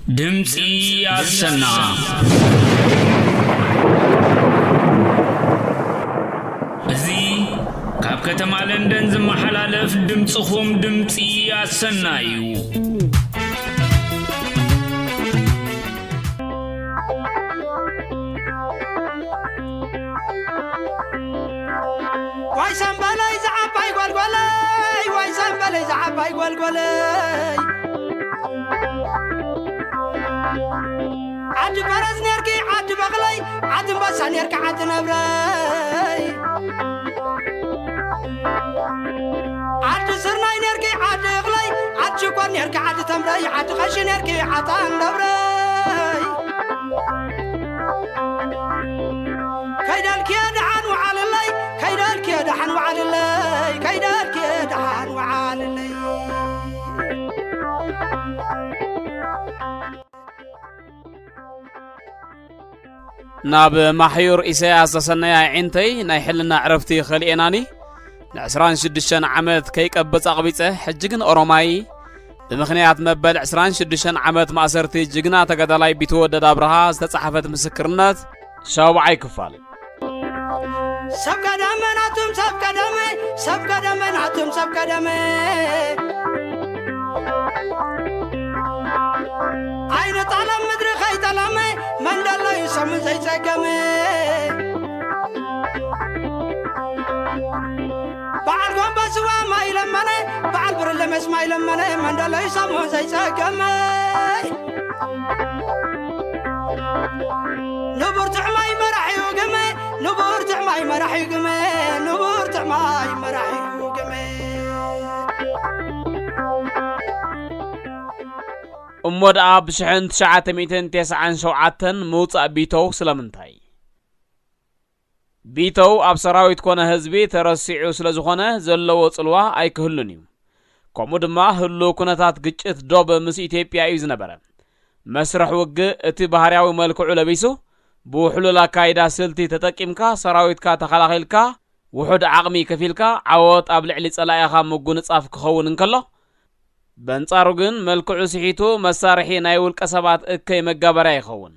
ድምፂ ኣሰና። እዚ ካብ ከተማ ለንደን ዝመሓላለፍ ድምፅኹም ድምፂ ኣሰና እዩ። ዋይ ሰምበለይ ዝዓባይ ጓልጓለይ፣ ዋይ ሰምበለይ ዝዓባይ ጓልጓለይ። ዓዲ ፈረስ ኔርኪ ዓዲ በቕለይ፣ ዓዲ ኣንበሳ ኔርኪ ዓዲ ነብረይ። ዓዲ ስርናይ ኔርኪ ዓዲ እኽለይ፣ ዓዲ ሽኮር ኔርኪ ዓዲ ተምረይ፣ ዓዲ ቐሺ ኔርኪ ዓዲ ኣንደብረይ። ከይደልክየ ደሓን ወዓልለይ፣ ከይደልክየ ደሓን ወዓልለይ፣ ከይደልክየ ደሓን ወዓልለይ። ናብ ማሕዩር ኢሳያስ ዘሰነያ ኣዒንተይ ናይ ሕልና ዕረፍቲ ከሊኤናኒ። ንዕስራን ሽዱሽተን ዓመት ከይቀብጽ ኣቕቢጸ፣ ሕጂ ግን ኦሮማይ። ብምኽንያት መበል ዕስራን ሽዱሽተን ዓመት ማእሰርቲ ጅግና ተጋዳላይ ቢትወደድ ኣብርሃ ዝተጻሕፈት ምስክርነት ሻውዓይ ክፋል። ሰብ ቀደመ ናቱም ሰብ ቀደመ፣ ሰብ ቀደመ ናቱም ሰብ ቀደመ። ኣይነ ጣለም ምድሪ ከይጠለመ፣ መንደሎ እዩ ሰሙን ዘይጸገመ። በዓል ጎንበስዋ ማይ ለመነ፣ በዓል ብርለ መስ ማይ ለመነ፣ መንደሎ እዩ ሰሙን ዘይጸገመ። ንቡር ትዕማይ መራሒኡ ግመ፣ ንቡር ትዕማይ መራሒኡ ግመ፣ ንቡር ትዕማይ መራሒኡ ግመ። እሞ ደኣ ብሽሕን ትሽዓተ ሚእትን ተስዓን ሸውዓተን ምውጻእ ቢተው ስለምንታይ? ቢተው ኣብ ሰራዊት ኮነ ህዝቢ ተረሲዑ ስለ ዝኾነ ዘለዎ ጽልዋ ኣይክህሉን እዩ። ከምኡ ድማ ህሉው ኩነታት ግጭት ዶብ ምስ ኢትዮጵያ እዩ ዝነበረ። መስርሕ ውግእ እቲ ባህርያዊ መልክዑ ለቢሱ፣ ብውሕሉል ኣካይዳ ስልቲ ተጠቂምካ ሰራዊትካ ተኸላኺልካ፣ ውሑድ ዓቕሚ ከፊልካ ዓወት ኣብ ልዕሊ ጸላኢኻ ምጉንጻፍ ክኸውን እንከሎ፣ በንጻሩ ግን መልክዑ ስሒቱ መሳርሒ ናይ ውልቀ ሰባት እከይ መጋበርያ ይኸውን።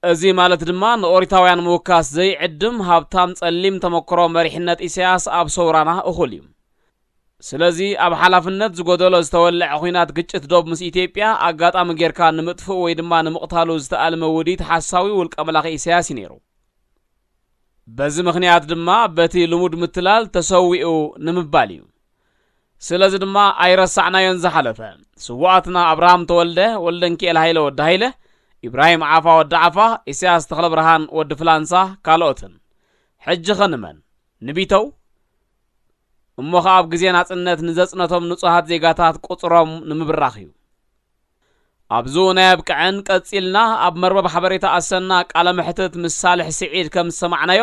እዚ ማለት ድማ ንኦሪታውያን ምውካስ ዘይዕድም ሃብታም ጸሊም ተመክሮ መሪሕነት ኢሳያስ ኣብ ሰውራና እኹል እዩ። ስለዚ ኣብ ሓላፍነት ዝጎደሎ ዝተወልዐ ኹናት ግጭት ዶብ ምስ ኢትዮጵያ ኣጋጣሚ ጌርካ ንምጥፍኡ ወይ ድማ ንምቕታሉ ዝተኣልመ ውዲት ሓሳዊ ውልቀ መላኺ ኢሳያስ እዩ ነይሩ። በዚ ምኽንያት ድማ በቲ ልሙድ ምትላል ተሰዊኡ ንምባል እዩ። ስለዚ ድማ ኣይረሳዕናዮን ዝሓለፈ። ስዉኣትና ኣብርሃም ተወልደ፣ ወልደንኪኤል ሃይለ ወዲ ሃይለ፣ ኢብራሂም ዓፋ ወዲ ዓፋ፣ ኢሳያስ ተኽለብርሃን ወዲ ፍላንሳ፣ ካልኦትን። ሕጂ ኸ ንመን? ንቢተው? እሞ ኸኣ ኣብ ግዜ ናጽነት ንዘጽነቶም ንጹሃት ዜጋታት ቁጽሮም ንምብራኽ እዩ። ኣብዚ እውን ኣየብቅዐን፣ ቀጺልና ኣብ መርበብ ሓበሬታ ኣሰና ቃለ መሕትት ምስ ሳልሕ ስዒድ ከም ዝሰማዕናዮ፣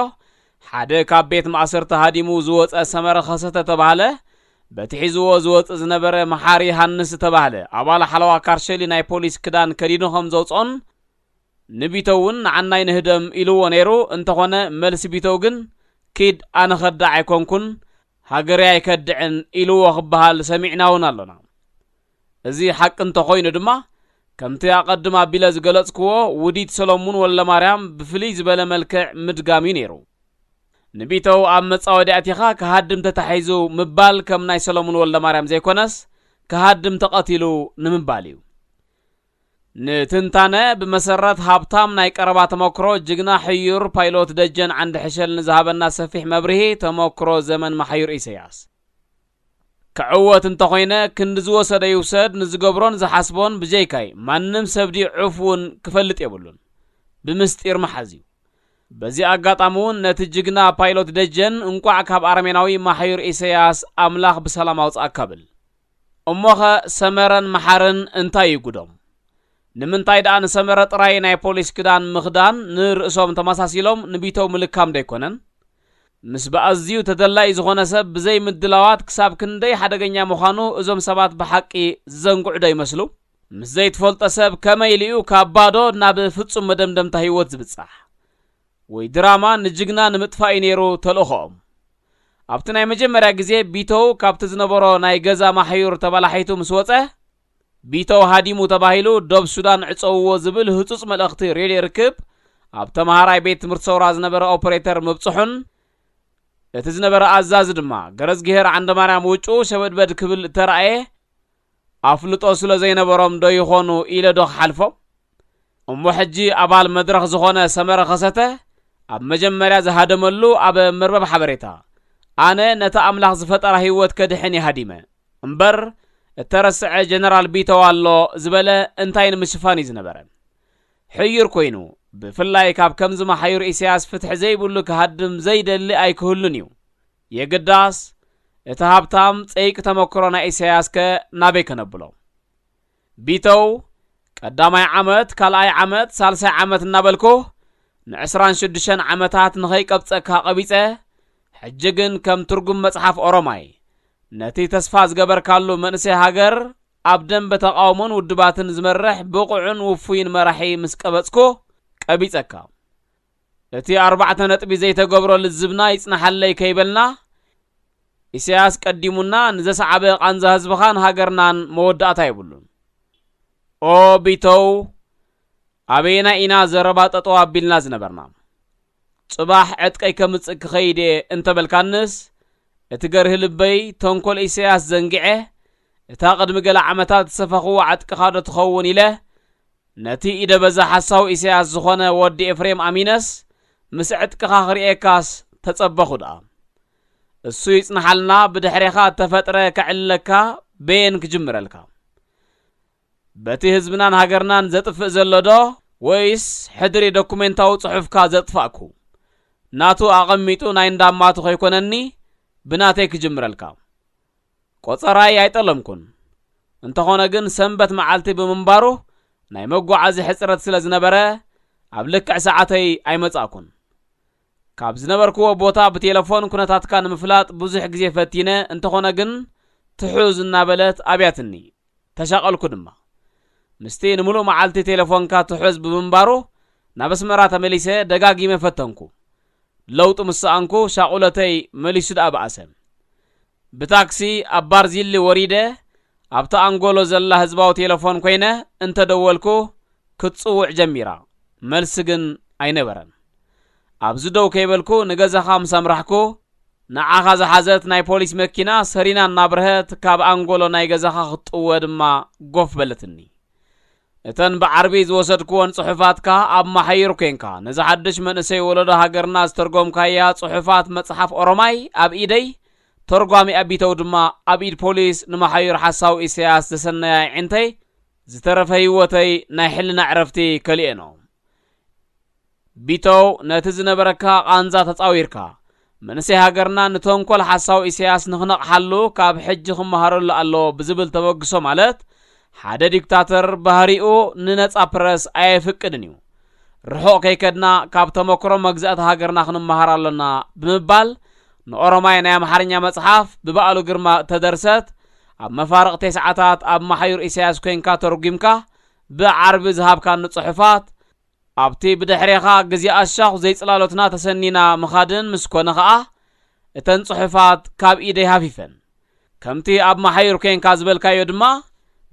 ሓደ ካብ ቤት ማእሰርቲ ሃዲሙ ዝወጸ ሰመረ ኸሰተ ተባህለ፣ በቲ ሒዝዎ ዝወጽእ ዝነበረ መሓሪ ሃንስ ዝተባህለ ኣባል ሓለዋ ካርሸሊ ናይ ፖሊስ ክዳን ከዲኑ ከም ዘውጽኦን ንቢተው እውን ንዓናይ ንህደም ኢልዎ ነይሩ። እንተኾነ መልሲ ቢተው ግን፣ "ኪድ፣ ኣነ ኸዳዕ ኣይኮንኩን፣ ሃገረይ ኣይከድዕን" ኢልዎ ክበሃል ሰሚዕና እውን ኣሎና። እዚ ሓቂ እንተኾይኑ ድማ፣ ከምቲ ኣቐድም ኣቢለ ዝገለጽክዎ፣ ውዲት ሰሎሙን ወልደማርያም ብፍልይ ዝበለ መልክዕ ምድጋም እዩ ነይሩ። ንቢተው ኣብ መጻወዲ ኣቲኻ ክሃድም ተታሒዙ ምባል ከም ናይ ሰሎሙን ወልደማርያም ዘይኮነስ፣ ክሃድም ተቐቲሉ ንምባል እዩ። ንትንታነ ብመሰረት ሃብታም ናይ ቀረባ ተመክሮ ጅግና ሕዩር ፓይሎት ደጀን ዓንዲ ሕሸል ንዝሃበና ሰፊሕ መብርሂ ተመክሮ ዘመን ማሕዩር ኢሰያስ። ክዕወት እንተኾይነ ክንዲ ዝወሰደ ይውሰድ፣ ንዝገብሮን ዝሓስቦን ብጀይካይ ማንም ሰብ ድዩ ዕፍ እውን ክፈልጥ የብሉን። ብምስጢር መሓዝ እዩ። በዚ ኣጋጣሚ እውን ነቲ ጅግና ፓይሎት ደጀን እንቋዕ ካብ ኣረሜናዊ ማሕዩር ኢሰያስ ኣምላኽ ብሰላም ኣውጽኣካ ብል። እሞኸ ሰመረን መሓርን እንታይ እዩ ጉዶም? ንምንታይ ደኣ ንሰመረ ጥራይ ናይ ፖሊስ ክዳን ምኽዳን ንርእሶም ተመሳሲሎም ንቢተው ምልካም ዶ ኣይኮነን? ምስ ብኣዝዩ ተደላይ ዝኾነ ሰብ ብዘይ ምድላዋት ክሳብ ክንደይ ሓደገኛ ምዃኑ እዞም ሰባት ብሓቂ ዝዘንግዑ ዶ ይመስሉ? ምስ ዘይትፈልጦ ሰብ ከመይ ኢሉ እዩ ካብ ባዶ ናብ ፍጹም መደምደምታ ህይወት ዝብጻሕ? ወይ ድራማ ንጅግና ንምጥፋእ እዩ ነይሩ ተልእኾኦም። ኣብቲ ናይ መጀመርያ ግዜ ቢተው ካብቲ ዝነበሮ ናይ ገዛ ማሕዩር ተባላሒቱ ምስ ወጸ፣ ቢተው ሃዲሙ ተባሂሉ ዶብ ሱዳን ዕጸውዎ ዝብል ህጹጽ መልእኽቲ ሬድዮ ርክብ ኣብ ተምሃራይ ቤት ትምህርቲ ሰውራ ዝነበረ ኦፐሬተር ምብጽሑን፣ እቲ ዝነበረ ኣዛዚ ድማ ገረዝግሄር ዓንደማርያም ውጩ ሸበድበድ ክብል እተራእየ፣ ኣፍልጦ ስለ ዘይነበሮም ዶ ይኾኑ ኢለ ዶ ክሓልፎም? እሞ ሕጂ ኣባል መድረኽ ዝኾነ ሰመረ ከሰተ ኣብ መጀመርያ ዝሃደመሉ ኣብ መርበብ ሓበሬታ፣ ኣነ ነቲ ኣምላኽ ዝፈጠራ ህይወት ከድሕን ይሃዲመ እምበር፣ እተረስዐ ጀነራል ቢተው ኣሎ ዝበለ እንታይ ንምሽፋን እዩ ዝነበረ? ሕዩር ኮይኑ፣ ብፍላይ ካብ ከምዚ መሓዩር ኢሳያስ ፍትሒ ዘይብሉ ክሃድም ዘይደሊ ኣይክህሉን እዩ። የግዳስ፣ እቲ ሃብታም ጸይቂ ተመክሮ ናይ ኢሳያስ ከ ናበይ ከነብሎ? ቢተው፣ ቀዳማይ ዓመት፣ ካልኣይ ዓመት፣ ሳልሳይ ዓመት እናበልኩ፣ ንዕስራን ሽዱሽተን ዓመታት ንኸይቀብጸካ ቀቢጸ፣ ሕጂ ግን ከም ትርጉም መጽሓፍ ኦሮማይ፣ ነቲ ተስፋ ዝገበርካሉ መንእሰይ ሃገር፣ ኣብ ደንበ ተቓውሞን ውድባትን ዝመርሕ ብቑዕን ውፉይን መራሒ ምስ ቀበጽኩ፣ ቀቢጸካ። እቲ ኣርባዕተ ነጥቢ ዘይተገብሮ ልዝብና ይጽናሓለይ ከይበልና፣ ኢሳያስ ቀዲሙና ንዘሰዓበ ቃንዛ ህዝብኻን ሃገርናን መወዳእታ የብሉን። ኦ ቢተው፣ ኣበየናይ ኢና ዘረባ ጠጠው ኣቢልና ዝነበርና? ጽባሕ ዕጥቀይ ከምጽእ ክኸይድ እየ እንተበልካንስ፣ እቲ ገርሂ ልበይ ተንኮል ኢሳያስ ዘንጊዐ፣ እታ ቅድሚ ገለ ዓመታት ዝሰፈኽዎ ዕጥቅኻ ዶ ትኸውን ኢለ፣ ነቲ ኢደ በዛ ሓሳዊ ኢሳያስ ዝኾነ ወዲ ኤፍሬም ኣሚነስ፣ ምስ ዕጥቅኻ ክርእየካስ ተጸበኹ ደኣ። እሱ ይጽንሓልና፣ ብድሕሬኻ እተፈጥረ ከዕልለካ በየን ክጅምረልካ? በቲ ህዝብናን ሃገርናን ዘጥፍእ ዘሎ ዶ፣ ወይስ ሕድሪ ዶኩሜንታዊ ጽሑፍካ ዘጥፋእኩ? ናቱ ኣቐሚጡ ናይ እንዳማቱ ከይኮነኒ፣ ብናተይ ክጅምረልካ። ቆጸራይ ኣይጠለምኩን። እንተኾነ ግን ሰንበት መዓልቲ ብምንባሩ ናይ መጓዓዚ ሕጽረት ስለ ዝነበረ ኣብ ልክዕ ሰዓተይ ኣይመጻእኩን። ካብ ዝነበርክዎ ቦታ ብቴለፎን ኩነታትካ ንምፍላጥ ብዙሕ ግዜ ፈቲነ፣ እንተኾነ ግን ትሑዝ እናበለት ኣብያትኒ። ተሻቐልኩ ድማ። ምስቲ ንምሉእ መዓልቲ ቴለፎንካ ትሑዝ ብምንባሩ ናብ ኣስመራ ተመሊሰ ደጋጊመ ፈተንኩ። ለውጢ ምስ ሰኣንኩ ሻቑለተይ መሊሱ ደኣ በኣሰ። ብታክሲ ኣብ ባርዚሊ ወሪደ ኣብታ ኣንጎሎ ዘላ ህዝባዊ ቴለፎን ኮይነ እንተደወልኩ ክትጽውዕ ጀሚራ። መልሲ ግን ኣይነበረን። ኣብዚ ደው ከይበልኩ ንገዛኻ ምስ ኣምራሕኩ ንዓኻ ዝሓዘት ናይ ፖሊስ መኪና ሰሪና እናብርሀት ካብ ኣንጎሎ ናይ ገዛኻ ክትጥወ ድማ ጎፍ በለትኒ። እተን ብዓርቢ ዝወሰድክወን ጽሑፋትካ ኣብ መሓይር ኮንካ ነዚ ሓድሽ መንእሰይ ወለዶ ሃገርና ዝተርጎምካያ ጽሑፋት መጽሓፍ ኦሮማይ ኣብ ኢደይ፣ ተርጓሚ ኣቢተው ድማ ኣብ ኢድ ፖሊስ ንመሓይር ሓሳው ኢሳያስ ዘሰነያ ኣዒንተይ ዝተረፈ ህይወተይ ናይ ሕልና ዕረፍቲ ከሊኤኖ። ቢተው ነቲ ዝነበረካ ቃንዛ ተጻዊርካ፣ መንእሰይ ሃገርና ንተንኮል ሓሳው ኢሳያስ ንኽነቕሓሉ ካብ ሕጂ ክመሃረሉ ኣለዎ ብዝብል ተበግሶ ማለት፣ ሓደ ዲክታተር ባህሪኡ ንነጻ ፕረስ ኣየፍቅድን እዩ። ርሑቕ ከይከድና ካብ ተመክሮ መግዛእቲ ሃገርና ክንመሃር ኣሎና ብምባል፣ ንኦሮማይ ናይ ኣምሓርኛ መጽሓፍ ብበዓሉ ግርማ እተደርሰት፣ ኣብ መፋርቕ ተስዓታት ኣብ መሓዩር ኢሳያስ ኮይንካ ተርጒምካ ብዓርቢ ዝሃብካኒ ጽሑፋት፣ ኣብቲ ብድሕሬኻ ግዜ ኣሻኹ ዘይጽላሎትና ተሰኒና ምኻድን ምስ ኮነ ኸኣ፣ እተን ጽሑፋት ካብ ኢደይ ሃፊፈን። ከምቲ ኣብ መሓዩር ኮይንካ ዝበልካዮ ድማ፣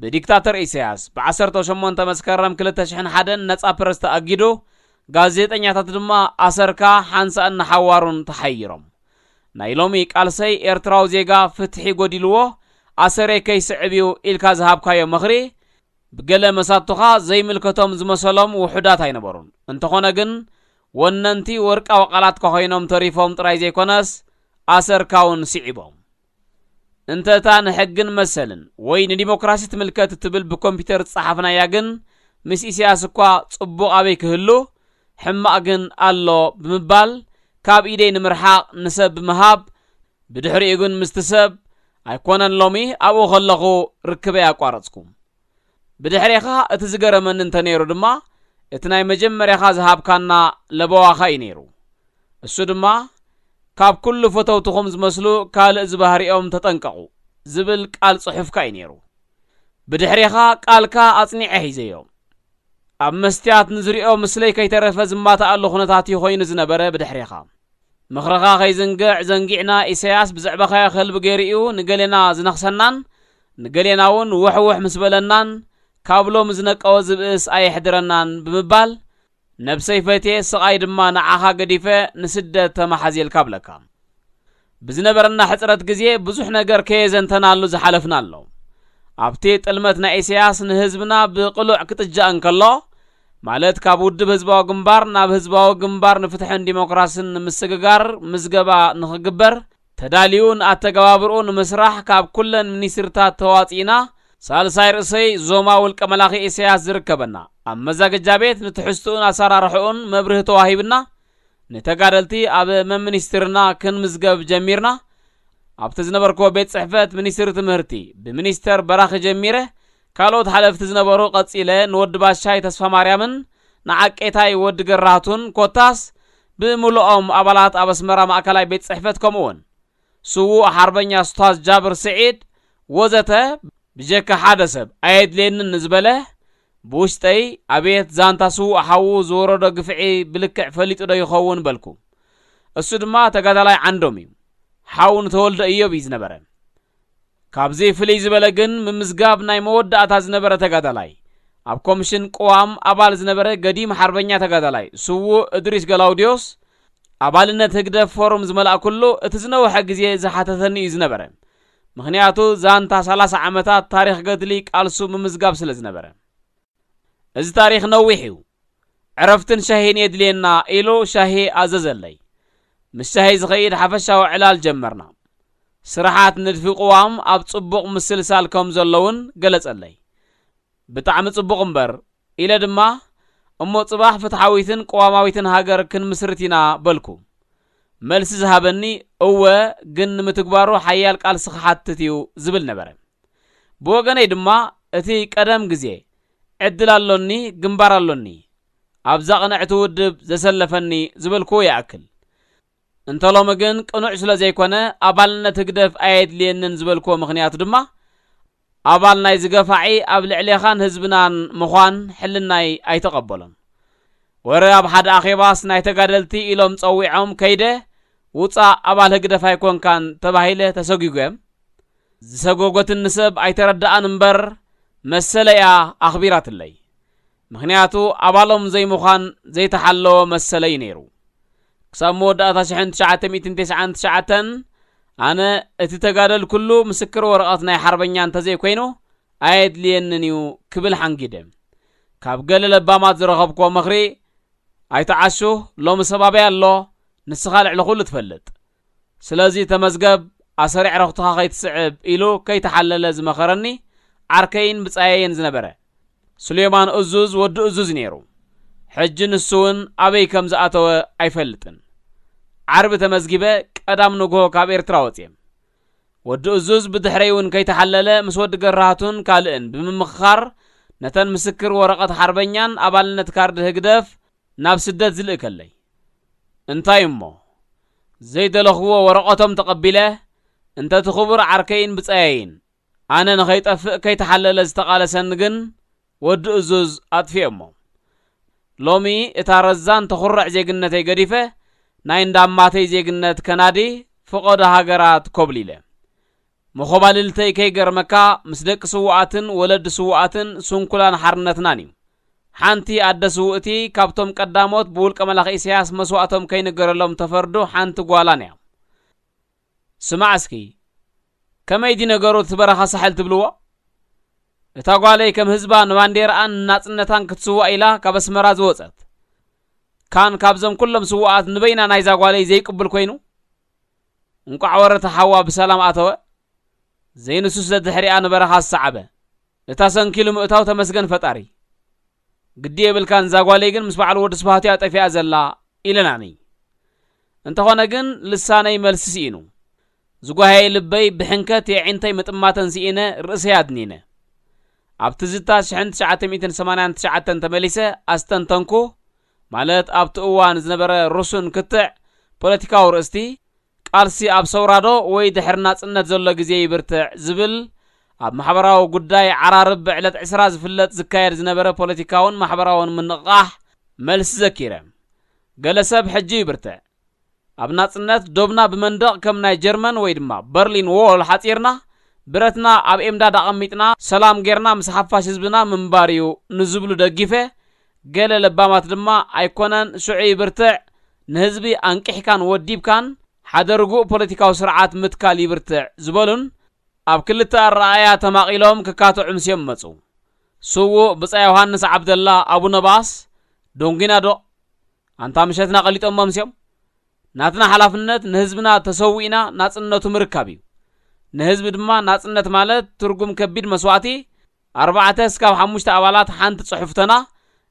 ብዲክታተር ኢሳያስ ብ ዓሰርተ ሸሞንተ መስከረም ክልተ ሽሕን ሓደን ነጻ ፕረስ ተኣጊዱ፣ ጋዜጠኛታት ድማ ኣሰርካ ሓንሳእን ንሓዋሩን ተሓይሮም። ናይ ሎሚ ቃልሰይ ኤርትራዊ ዜጋ ፍትሒ ጎዲልዎ ኣሰረይ ከይስዕብ እዩ ኢልካ ዝሃብካዮ ምኽሪ፣ ብገለ መሳቱኻ ዘይምልከቶም ዝመሰሎም ውሑዳት ኣይነበሩን። እንተኾነ ግን፣ ወነንቲ ወርቃዊ ቃላትካ ኮይኖም ተሪፎም ጥራይ ዘይኮነስ፣ ኣሰርካ እውን ስዒቦም። እንተ እታ ንሕግን መሰልን ወይ ንዲሞክራሲ ትምልከት እትብል ብኮምፒውተር ዝጸሓፍናያ ግን፣ ምስ ኢሳያስ እኳ ጽቡቕ ኣበይ ክህሉ፣ ሕማቕ ግን ኣሎ ብምባል፣ ካብ ኢደይ ንምርሓቕ ንሰብ ብምሃብ፣ ብድሕሪኡ ግን ምስቲ ሰብ ኣይኮነን ሎሚ ኣብኡ ከለኹ ርክበይ ኣቋረጽኩ። ብድሕሬኻ እቲ ዝገረመኒ እንተ ነይሩ ድማ፣ እቲ ናይ መጀመርያኻ ዝሃብካና ለበዋኻ እዩ ነይሩ። እሱ ድማ፣ "ካብ ኩሉ ፈተውትኹም ዝመስሉ ካልእ ዝባህሪኦም ተጠንቀቑ" ዝብል ቃል ጽሑፍካ እዩ ነይሩ። ብድሕሬኻ ቃልካ ኣጽኒዐ ሒዘዮ። ኣብ መስትያት ንዝሪኦ ምስለይ ከይተረፈ ዝማታኣሉ ኩነታት እዩ ኮይኑ ዝነበረ ብድሕሬኻ። ምኽርኻ ከይዝንግዕ ዘንጊዕና ኢሳያስ ብዘዕባኻዮ ከልቢ ገይሩ እዩ ንገሌና ዝነኽሰናን ንገሌና እውን ውሕውሕ ምስ በለናን ካብ ሎም ዝነቀወ ዝብእስ ኣየሕድረናን ብምባል፣ ነብሰይ ፈትየ ስቓይ ድማ ንዓኻ ገዲፈ ንስደት ተመሓዝየልካ ብለካ። ብዝነበረና ሕጽረት ግዜ ብዙሕ ነገር ከየዘንተናሉ ዝሓለፍና ኣሎ። ኣብቲ ጥልመት ናይ ኢሳያስ ንህዝብና ብቕሉዕ ክጥጃእ እንከሎ፣ ማለት ካብ ውድብ ህዝባዊ ግንባር ናብ ህዝባዊ ግንባር ንፍትሕን ዲሞክራስን ንምስግጋር ምዝገባ ንኽግበር ተዳልዩ፣ ንኣተገባብርኡ ንምስራሕ ካብ ኩለን ሚኒስትርታት ተዋጺእና፣ ሳልሳይ ርእሰይ ዞማ ውልቀ መላኺ ኢሳያስ ዝርከበና ኣብ መዛገጃ ቤት ንትሕዝትኡን ኣሰራርሕኡን መብርሂ ተዋሂብና፣ ንተጋደልቲ ኣብ መሚኒስትርና ክንምዝገብ ጀሚርና። ኣብቲ ዝነበርኩዎ ቤት ጽሕፈት ሚኒስትሪ ትምህርቲ ብሚኒስተር በራኺ ጀሚረ፣ ካልኦት ሓለፍቲ ዝነበሩ ቀጺለ፣ ንወዲ ባሻይ ተስፋ ማርያምን ንዓቄታይ ወዲ ገራህቱን ኮታስ ብምሉኦም ኣባላት ኣብ ኣስመራ ማእከላይ ቤት ጽሕፈት ከምኡውን ስዉእ ሓርበኛ ስታዝ ጃብር ስዒድ ወዘተ ብጀካ ሓደ ሰብ ኣየድልየንን ንዝበለ ብውሽጠይ ኣቤት ዛንታ ስዉእ ሓዉ ዝወረዶ ግፍዒ ብልክዕ ፈሊጡ ዶ ይኸውን በልኩ። እሱ ድማ ተጋዳላይ ዓንዶም እዩ። ሓው ንተወልደ እዮብ እዩ ዝነበረ። ካብዚ ፍልይ ዝበለ ግን ምምዝጋብ ናይ መወዳእታ ዝነበረ ተጋዳላይ ኣብ ኮሚሽን ቅዋም ኣባል ዝነበረ ገዲም ሓርበኛ ተጋዳላይ ስዉእ እድሪስ ገላውዲዮስ ኣባልነት ህግደፍ ፎርም ዝመላእኩሉ እቲ ዝነውሐ ግዜ ዝሓተተኒ እዩ ዝነበረ። ምኽንያቱ ዛንታ ሰላሳ ዓመታት ታሪኽ ገድሊ ቃልሱ ምምዝጋብ ስለ ዝነበረ። እዚ ታሪኽ ነዊሕ እዩ። ዕረፍትን ሻሂን የድልየና ኢሉ ሻሂ ኣዘዘለይ። ምስ ሻሂ ዝኸይድ ሓፈሻዊ ዕላል ጀመርና። ስራሓት ንድፊ ቅዋም ኣብ ጽቡቕ ምስልሳል ከም ዘለውን ገለጸለይ። ብጣዕሚ ጽቡቕ እምበር ኢለ ድማ፣ እሞ ጽባሕ ፍትሓዊትን ቅዋማዊትን ሃገር ክንምስርት ኢና በልኩ። መልሲ ዝሃበኒ፣ እወ፣ ግን ንምትግባሩ ሓያል ቃልሲ ክሓትት እዩ ዝብል ነበረ። ብወገነይ ድማ እቲ ቀደም ግዜ ዕድል ኣሎኒ፣ ግንባር ኣሎኒ፣ ኣብዛ ቅንዕቲ ውድብ ዘሰለፈኒ ዝበልክዎ ይኣክል። እንተ ሎሚ ግን ቅኑዕ ስለ ዘይኮነ ኣባልነት ህግደፍ ኣየድልየንን ዝበልክዎ ምኽንያት ድማ ኣባል ናይ ዝገፋዒ ኣብ ልዕሌኻን ህዝብናን ምዃን ሕልናይ ኣይተቐበሎን። ወረ ኣብ ሓደ ኣኼባስ ናይ ተጋደልቲ ኢሎም ጸዊዖም ከይደ ውጻእ ኣባል ህግደፍ ኣይኮንካን ተባሂለ ተሰጒጎም። ዝሰጎጎትኒ ሰብ ኣይተረድኣን እምበር መሰለያ ኣኽቢራትለይ። ምኽንያቱ ኣባሎም ዘይምዃን ዘይተሓለወ መሰለይ ነይሩ። ክሳብ መወዳእታ ሽሕን ትሽዓተ ሚእትን ተስዓን ትሽዓተን ኣነ እቲ ተጋደልኩሉ ምስክር ወረቐት ናይ ሓርበኛ እንተዘይኮይኑ ኣየድልየንን እዩ ክብል ሓንጊደ። ካብ ገለ ለባማት ዝረኸብክዎ ምኽሪ ኣይትዓሹ፣ ሎሚ ሰባብያ ኣሎ፣ ንስኻ ልዕሊ ኩሉ ትፈልጥ። ስለዚ ተመዝገብ፣ ኣሰሪዕ ረኽትኻ ከይትስዕብ ኢሉ ከይተሓለለ ዝመኸረኒ ዓርከይን ብጻየይን ዝነበረ ሱሌማን እዙዝ ወዲ እዙዝ ነይሩ። ሕጂ ንሱ እውን ኣበይ ከም ዝኣተወ ኣይፈልጥን። ዓርቢ ተመዝጊበ ቀዳም ንግሆ ካብ ኤርትራ ወጽየ። ወዲ እዙዝ ብድሕረይ እውን ከይተሓለለ ምስ ወዲ ገራህቱን ካልእን ብምምኽኻር ነተን ምስክር ወረቐት ሓርበኛን ኣባልነት ካርድ ህግደፍ ናብ ስደት ዝልእከለይ። እንታይ እሞ ዘይደለኽዎ ወረቐቶም ተቐቢለ እንተ እቲ ክቡር ዓርከይን ብጻየይን ኣነ ንኸይጠፍእ ከይተሓለለ ዝተቓለሰኒ ግን ወዲ እዙዝ ኣጥፊኦሞ። ሎሚ እታ ረዛን ተኹርዕ ዜግነተይ ገዲፈ ናይ እንዳማተይ ዜግነት ከናዲ ፍቐዶ ሃገራት ኮብሊለ። መኾባልልተይ ከይገርመካ ምስ ደቂ ስዉኣትን ወለዲ ስዉኣትን ስንኩላን ሓርነትናን እዩ። ሓንቲ ኣደ ስውእቲ ካብቶም ቀዳሞት ብውልቀ መላኺ ኢሳያስ መስዋእቶም ከይንገረሎም ተፈርዱ ሓንቲ ጓላን እያ። ስማዕ እስኪ፣ ከመይ ድዩ ነገሩ እቲ በረኻ ሳሕል ትብልዎ? እታ ጓለይ ከም ህዝባ ንባንዴራኣን ንናጽነታን ክትስዋእ ኢላ ካብ ኣስመራ ዝወጸት። ካን ካብዞም ኩሎም ስዉኣት ንበይና ናይዛ ጓለይ ዘይቅብል ኮይኑ? እንቋዕ ወረ እቲ ሓዋ ብሰላም ኣተወ። ዘይንሱስ ደድሕሪኣ ንበረኻ ዝሰዓበ። እታ ሰንኪሉ ምእታው ተመስገን ፈጣሪ። ግዲ የብልካን፣ እዛ ጓለይ ግን ምስ በዓል ወዲ ስብሃት እያ ጠፊኣ ዘላ ኢለናኒ። እንተኾነ ግን ልሳነይ መልሲ ስኢኑ። ዝጓሃየ ልበይ ብሕንከት የዒንተይ ምጥማተን ስኢነ ርእሰይ ኣድኒነ። ኣብ ትዝታ ሽሕን ትሽዓተ ሚእትን ሰማንያን ትሽዓተን ተመሊሰ ኣስተንተንኩ፣ ማለት ኣብቲ እዋን ዝነበረ ርሱን ክትዕ ፖለቲካዊ ርእስቲ፣ ቃልሲ ኣብ ሰውራዶ ወይ ድሕሪ ናጽነት ዘሎ ግዜ ይብርትዕ ዝብል ኣብ ማሕበራዊ ጉዳይ ዓራርብ ብዕለት ዕስራ ዝፍለጥ ዝካየድ ዝነበረ ፖለቲካውን ማሕበራውን ምንቕቓሕ መልሲ ዘኪረ። ገለ ሰብ ሕጂ ይብርትዕ። ኣብ ናጽነት ዶብና ብመንደቕ ከም ናይ ጀርመን ወይ ድማ በርሊን ዎል ሓጺርና ብረትና ኣብ ኤምዳድ ኣቐሚጥና ሰላም ጌርና ምስ ሓፋሽ ህዝብና ምንባር እዩ ንዝብሉ ደጊፈ፣ ገለ ለባማት ድማ ኣይኮነን ሽዑ ይብርትዕ፣ ንህዝቢ ኣንቂሕካን ወዲብካን ሓደ ርጉእ ፖለቲካዊ ስርዓት ምትካል ይብርትዕ ዝበሉን ኣብ ክልተ ኣረኣእያ ተማቒሎም ክካትዑ ምስዮም መጹ። ስዉእ ብጻ ዮሃንስ ዓብደላ ኣቡነ ባስ፣ ዶንጊና ዶ ኣንታ ምሸትና ቀሊጦሞ ምስዮም። ናትና ሓላፍነት ንህዝብና ተሰዊእና ናጽነቱ ምርካብ እዩ። ንህዝቢ ድማ ናጽነት ማለት ትርጉም ከቢድ መስዋእቲ፣ ኣርባዕተ እስካብ ሓሙሽተ ኣባላት ሓንቲ ጽሑፍተና፣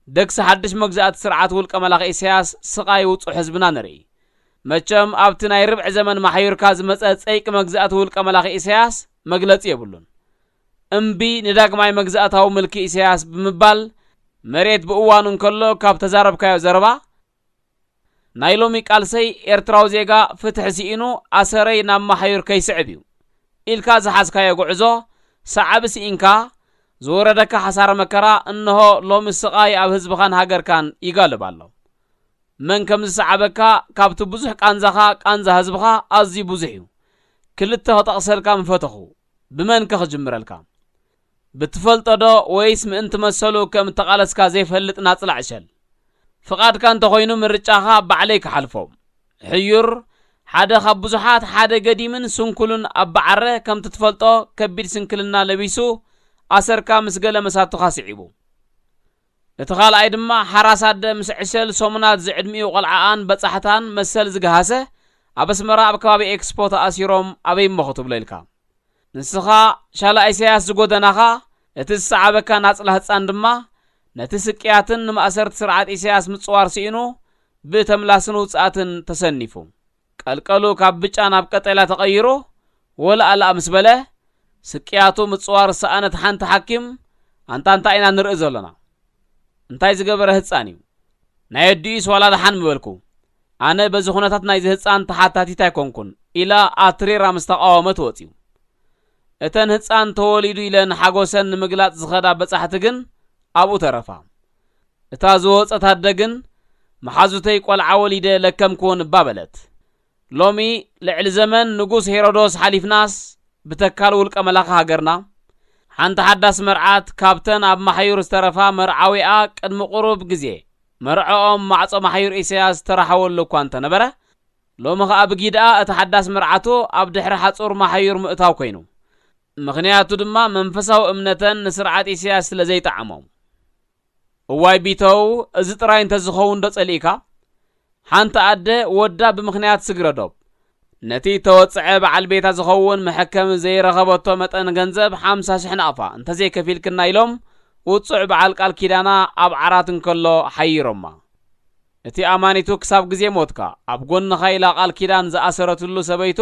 ደግሲ ሓድሽ መግዛእቲ ስርዓት ውልቀ መላኺ ኢሳያስ ስቓይ ውጹዕ ህዝብና ንርኢ። መቸም ኣብቲ ናይ ርብዒ ዘመን ማሕዩርካ ዝመጸ ጸይቂ መግዛእቲ ውልቀ መላኺ ኢሳያስ መግለጺ የብሉን። እምቢ ንዳግማይ መግዛእታዊ ምልኪ ኢሳያስ ብምባል መሬት ብእዋኑ እንከሎ ካብ ተዛረብካዮ ዘረባ ናይ ሎሚ ቃልሰይ ኤርትራዊ ዜጋ ፍትሒ ስኢኑ ኣሰረይ ናብ ማሕዩር ከይስዕብ እዩ ኢልካ ዝሓዝካዮ ጉዕዞ ሰዓቢ ስኢንካ ዝወረደካ ሓሳረ መከራ እንሆ ሎሚ ስቓይ ኣብ ህዝብኻን ሃገርካን ይጋልብ ኣሎ። መን ከም ዝሰዓበካ ካብቲ ብዙሕ ቃንዛኻ ቃንዛ ህዝብኻ ኣዝዩ ብዙሕ እዩ። ክልተ ክጠቕሰልካ ምፈተኹ። ብመን ከ ክጅምረልካ? ብትፈልጦ ዶ ወይስ ምእንቲ መሰሉ ከም እተቓለስካ ዘይፈልጥ ናጽላ ዕሸል? ፍቓድካ እንተኾይኑ ምርጫኻ ባዕለይ ክሓልፎ። ሕዩር ሓደ ካብ ብዙሓት ሓደ ገዲምን ስንኩልን ኣባዓረ ከምቲ ትፈልጦ ከቢድ ስንክልና ለቢሱ ኣሰርካ ምስ ገለ መሳቱኻ ስዒቡ። እቲ ካልኣይ ድማ ሓራስ ኣደ ምስ ዕሸል ሰሙናት ዝዕድሚኡ ቆልዓኣን በጻሕታን መሰል ዝገሃሰ ኣብ ኣስመራ ኣብ ከባቢ ኤክስፖ ተኣሲሮም ኣበይ እሞ ክትብሎ ኢልካ። ንስኻ ሻላ ኢሳያስ ዝጎደናኻ እቲ ዝሰዓበካ ናጽላ ህጻን ድማ ነቲ ስቅያትን ንማእሰርቲ ስርዓት ኢሳያስ ምጽዋር ስኢኑ ብተምላስን ውጽኣትን ተሰኒፉ። ቀልቀሉ ካብ ብጫ ናብ ቀጠልያ ተቐይሩ ወላእ ላእ ምስ በለ ስቅያቱ ምጽዋር ዝሰኣነት ሓንቲ ሓኪም ኣንታ እንታይ ኢና ንርኢ ዘሎና? እንታይ ዝገበረ ህጻን እዩ? ናይ ኣዲኡስ ዋላ ደሓን ምበልኩ። ኣነ በዚ ኩነታት ናይዚ ህጻን ተሓታቲት ኣይኮንኩን ኢላ ኣትሪራ ምስ ተቓወመት ወጺኡ። እተን ህጻን ተወሊዱ ኢለን ሓጎሰን ንምግላጽ ዝኸዳ በጻሕቲ ግን ኣብኡ ተረፋ። እታ ዝወጸት ኣደ ግን መሓዙተይ ቆልዓ ወሊደ ለከምክወን እባ በለት። ሎሚ ልዕሊ ዘመን ንጉስ ሄሮዶስ ሓሊፍናስ ብተካል ውልቀ መላኺ ሃገርና ሓንቲ ሓዳስ መርዓት ካብተን ኣብ ማሕዩር ዝተረፋ መርዓዊኣ ቅድሚ ቁሩብ ግዜ መርዕኦም ማዕጾ ማሕዩር ኢሳያስ ዝተራሕወሉ እኳ እንተነበረ፣ ሎሚ ኸኣ ብጊድኣ እቲ ሓዳስ መርዓቱ ኣብ ድሕሪ ሓጹር ማሕዩር ምእታው ኮይኑ። ምኽንያቱ ድማ መንፈሳዊ እምነተን ንስርዓት ኢሳያስ ስለ ዘይጠዓሞም። እዋይ ቢተው፣ እዚ ጥራይ እንተዝኸውን ዶ ጸሊእካ? ሓንቲ ኣደ ወዳ ብምኽንያት ስግረ ዶብ ነቲ ተወጽዐ በዓል ቤታ ዝኸውን መሐከሚ ዘይረኸበቶ መጠን ገንዘብ ሓምሳ ሽሕ ናቕፋ እንተዘይከፊልክና ኢሎም ውጹዕ በዓል ቃል ኪዳና ኣብ ዓራት እንከሎ ሓይሮማ። እቲ ኣማኒቱ ክሳብ ግዜ ሞትካ ኣብ ጎንኻ ኢላ ቃል ኪዳን ዝኣሰረትሉ ሰበይቱ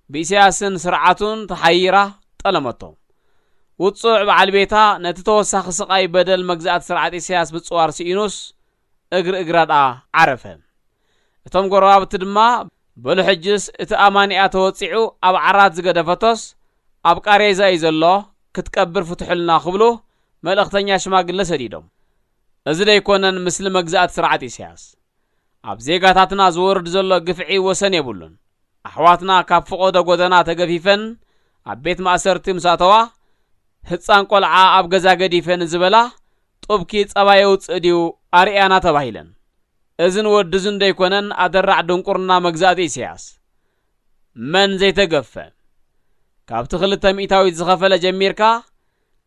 ብኢሳያስን ስርዓቱን ተሓይራ ጠለመቶ። ውጹዕ በዓል ቤታ ነቲ ተወሳኺ ስቓይ በደል መግዛእቲ ስርዓት ኢሳያስ ምጽዋር ስኢኑስ እግሪ እግራ ደኣ ዓረፈ። እቶም ጎረባብቲ ድማ በሉ ሕጅስ እቲ ኣማኒኣ ተወጺዑ ኣብ ዓራት ዝገደፈቶስ ኣብ ቃሬዛ እዩ ዘሎ ክትቀብር ፍትሑልና ክብሉ መልእኽተኛ ሽማግለ ሰዲዶም። እዚ ደይኮነን ምስሊ መግዛእቲ ስርዓት ኢሳያስ ኣብ ዜጋታትና ዝወርድ ዘሎ ግፍዒ ወሰን የብሉን። ኣሕዋትና ካብ ፍቖዶ ጎደና ተገፊፈን ኣብ ቤት ማእሰርቲ ምስ ኣተዋ ህጻን ቆልዓ ኣብ ገዛ ገዲፈ ንዝበላ ጡብኪ ጸባ የውጽእ ድዩ ኣርእያና ተባሂለን። እዝን ወድዝን ደይኮነን ኣደራዕ ድንቁርና መግዛእቲ ኢሳያስ። መን ዘይተገፈ? ካብቲ ክልተ ሚእታዊት ዝኸፈለ ጀሚርካ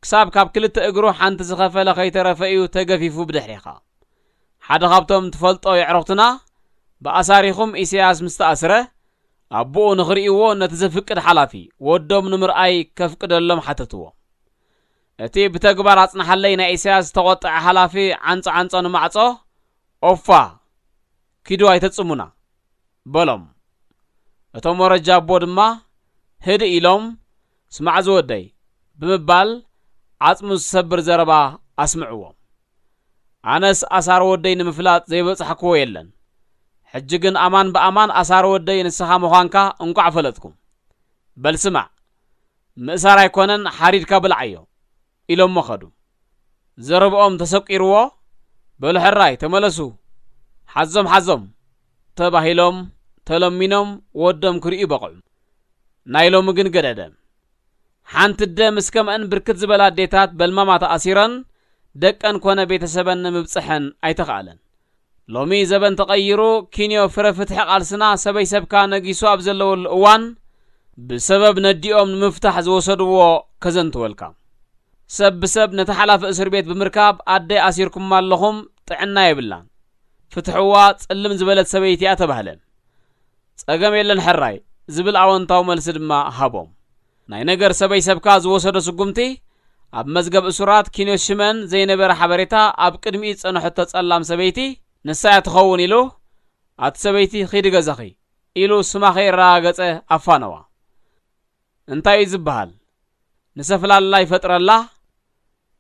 ክሳብ ካብ ክልተ እግሩ ሓንቲ ዝኸፈለ ከይተረፈ እዩ ተገፊፉ ብድሕሬኻ። ሓደ ካብቶም ትፈልጦ የዕሩኽትና ብኣሳሪኹም ኢሳያስ ምስ ተኣስረ ኣቦኡ ንኽርእይዎ ነቲ ዘፍቅድ ሓላፊ ወዶም ንምርኣይ ከፍቅደሎም ሓተትዎ። እቲ ብተግባር ኣጽንሓለይ ናይ ኢሳያስ ዝተቖጥዐ ሓላፊ ዓንጾ ዓንጾ ንማዕጾ ኦፋ ኪዱ ኣይተጽሙና በሎም። እቶም ወረጃ ኣቦ ድማ ህድእ ኢሎም ስማዕ ዝወደይ ብምባል ዓጽሙ ዝሰብር ዘረባ ኣስምዕዎም። ኣነስ ኣሳር ወደይ ንምፍላጥ ዘይበጻሕክዎ የለን። ሕጂ ግን ኣማን ብኣማን ኣሳር ወደይ ንስኻ ምዃንካ እንቋዕ ፈለጥኩ። በል ስማዕ፣ ምእሳር ኣይኮነን ሓሪድካ ብልዓዮ ኢሎሞ ኸዱ። ዘረብኦም ተሰቂርዎ በሉ ሕራይ ተመለሱ ሓዞም ሓዞም ተባሂሎም ተለሚኖም ወዶም ክርእዩ በቕዑ። ናይ ሎሚ ግን ገደደ። ሓንቲ ኣደ ምስ ከምአን ብርክት ዝበላ ኣዴታት በልማማ ተኣሲረን ደቀን ኮነ ቤተሰበን ንምብጽሐን ኣይተኽኣለን። ሎሚ ዘበን ተቐይሩ፣ ኪንዮ ፍረ ፍትሒ ቃልስና ሰበይ ሰብካ ነጊሱ ኣብ ዘለወሉ እዋን፣ ብሰበብ ነዲኦም ንምፍታሕ ዝወሰድዎ ከዘንትወልካ። ሰብ ብሰብ ነቲ ሓላፊ እስር ቤት ብምርካብ፣ ኣደ ኣሲርኩማ ኣለኹም፣ ጥዕና የብላን፣ ፍትሕዋ፣ ጽልም ዝበለት ሰበይቲ እያ ተባህለ። ጸገም የለን ሕራይ ዝብል ኣወንታዊ መልሲ ድማ ሃቦም። ናይ ነገር ሰበይ ሰብካ ዝወሰዶ ስጉምቲ፣ ኣብ መዝገብ እሱራት ኪንዮ ሽመን ዘይነበረ ሓበሬታ ኣብ ቅድሚኡ ዝጸንሐቶ ጸላም ሰበይቲ ንሳ እያ ትኸውን ኢሉ፣ ኣቲ ሰበይቲ ኺዲ ገዛኺ ኢሉ ስማ ከየረጋገጸ ኣፋነዋ። እንታይ እዩ ዝበሃል? ንሰፍላላ ይፈጥረላ፣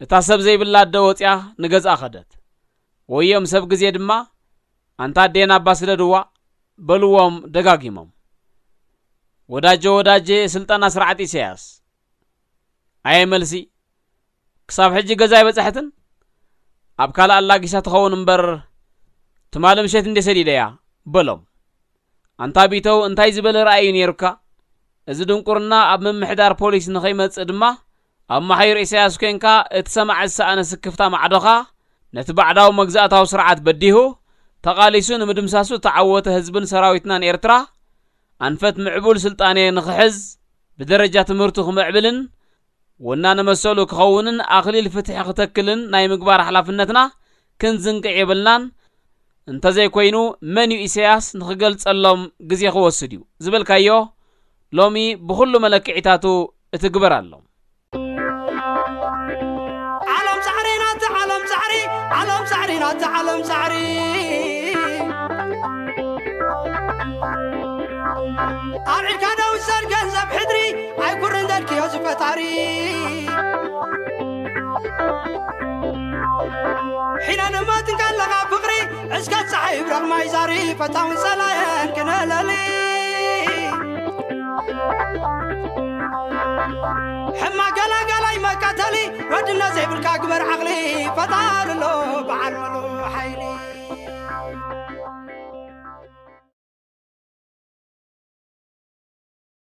እታ ሰብ ዘይብላ ኣደ ወጺኣ ንገዝኣ ከደት። ወዮም ሰብ ግዜ ድማ ኣንታ ኣዴና እባ ስደድዋ በልዎም ደጋጊሞም። ወዳጀ ወዳጀ ስልጠና ስርዓት ኢሳያስ። ኣየ መልሲ፣ ክሳብ ሕጂ ገዛ ኣይበጻሐትን? ኣብ ካልእ ኣላጊሳ ትኸውን እምበር ትማሊ ምሸት እንዴ ሰዲደያ በሎም። ኣንታ ቢተው እንታይ ዝበለ ራእይ እዩ ነይሩካ? እዚ ድንቁርና ኣብ ምምሕዳር ፖሊስ ንኸይመጽእ ድማ ኣብ መሓዩር ኢሳያስ ኮንካ እቲ ሰማዒ ዝሰኣነ ስክፍታ ማዕዶኻ ነቲ ባዕዳዊ መግዛእታዊ ስርዓት በዲሁ ተቓሊሱ ንምድምሳሱ እተዓወተ ህዝብን ሰራዊትናን ኤርትራ ኣንፈት ምዕቡል ስልጣኔ ንኽሕዝ ብደረጃ ትምህርቱ ክምዕብልን ወናነ መሰሉ ክኸውንን ኣኽሊል ፍትሒ ክተክልን ናይ ምግባር ሓላፍነትና ክንዝንግዕ የብልናን። እንተዘይኮይኑ መን እዩ ኢሳያስ ንኽገልጸሎም ግዜ ክወስድ እዩ ዝበልካዮ ሎሚ ብኹሉ መለክዒታቱ እትግበር ኣሎ። ዓለም ሳዕሪ ናቲ ዓለም ሳዕሪ ዓለም ሳዕሪ ናቲ ዓለም ሳዕሪ ኣብዒድካ ደውሰድ ገንዘብ ሕድሪ ኣይኩርን ዘድክዮ ዝፈታሪ ሒነ ንመት እንከለኻ ፍቕሪ እስከ ፀሓይ ይብረቕ ማይ ዛሪ ፈታውን ጸላየን ክነለሊ ሕማ ገላጋላይ መቀተሊ ወድነት ዘይብልካ ግበር ዓቕሊ ፈጣሪ ኣሎ በዓል ምሉእ ሓይሊ